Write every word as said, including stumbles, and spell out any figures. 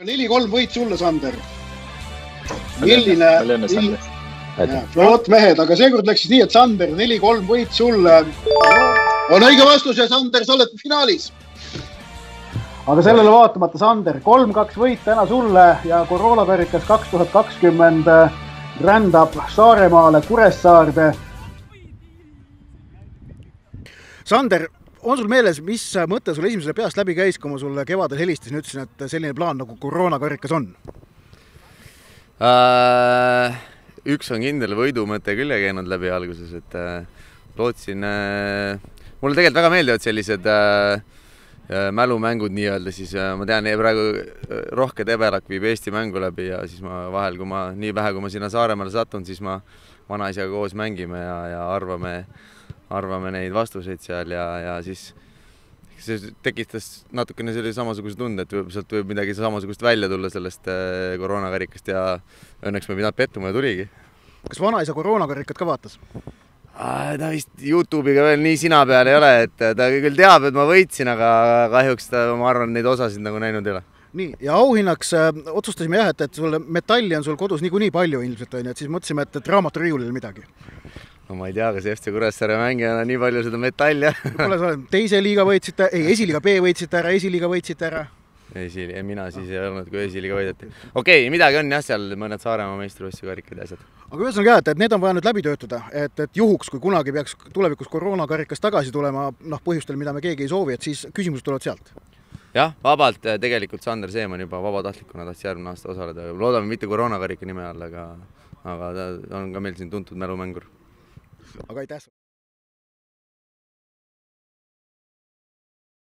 neli kolm võit sulle, Sander. Milline... Vot mehed, aga seekord läks nii, et Sander, neli kolm võit sulle. On õige vastus ja Sander, sa oled finaalis. Aga sellele vaatamata, Sander, kolm kaks võit täna sulle ja koroonakarikas kaks tuhat kakskümmend rändab Saaremaale Kuressaarde. Sander, on sul meeles, mis mõte sul esimesele peast läbi käis, kui ma sulle kevadel helistasin, ütlesin, et selline plaan nagu koroonakarikas on? Äh, üks on kindel võidumõte küll ja käinud läbi alguses, et äh, lootsin... Äh, mulle tegelikult väga meeldivad sellised äh, mälumängud nii-öelda, siis äh, ma tean, praegu Rohke Tebelak viib Eesti mängu läbi ja siis ma vahel, kui ma nii vähe, kui ma sinna Saaremaale satun, siis ma vanaisaga koos mängime ja, ja arvame... arvame neid vastuseid seal ja, ja siis see tekitas natukene selle samasuguse tunde, et sealt võib midagi samasugust välja tulla sellest koroonakarikast ja õnneks me pidanud pettuma ja tuligi. Kas vanaisa koroonakarikat ka vaatas? Ta vist YouTube'iga veel nii sina peal ei ole, et ta küll teab, et ma võitsin, aga kahjuks ta, ma arvan, neid osasid nagu näinud ei ole. Nii, ja auhinnaks äh, otsustasime jah, et, et sulle metalli on sul kodus niikuinii palju ilmselt, on, et siis mõtlesime, et, et raamaturiiulil midagi. No ma ei tea, kas F C Kuressaare mängijana nii palju seda metalli. Kuule, sa oled teise liiga võitsite, ei, esiliiga B võitsite ära, esiliiga võitsite ära. Esili, mina siis ei olnud, kui esiliiga võideti. Okei, midagi on jah, seal mõned Saaremaa meistrivõistluste karikad ja asjad. Aga ühesõnaga, et, et need on vaja nüüd läbi töötada, et, et juhuks, kui kunagi peaks tulevikus koroonakarikas tagasi tulema, noh, põhjustel, mida me keegi ei soovi, et siis küsimused tulevad sealt. Jah, vabalt tegelikult Sander Seeman juba vabatahtlikuna tahtis järgmine aasta osaleda. Loodame mitte koroonakarika nime all, aga, aga ta on ka meil siin tuntud mälumängur. Aga aitäh!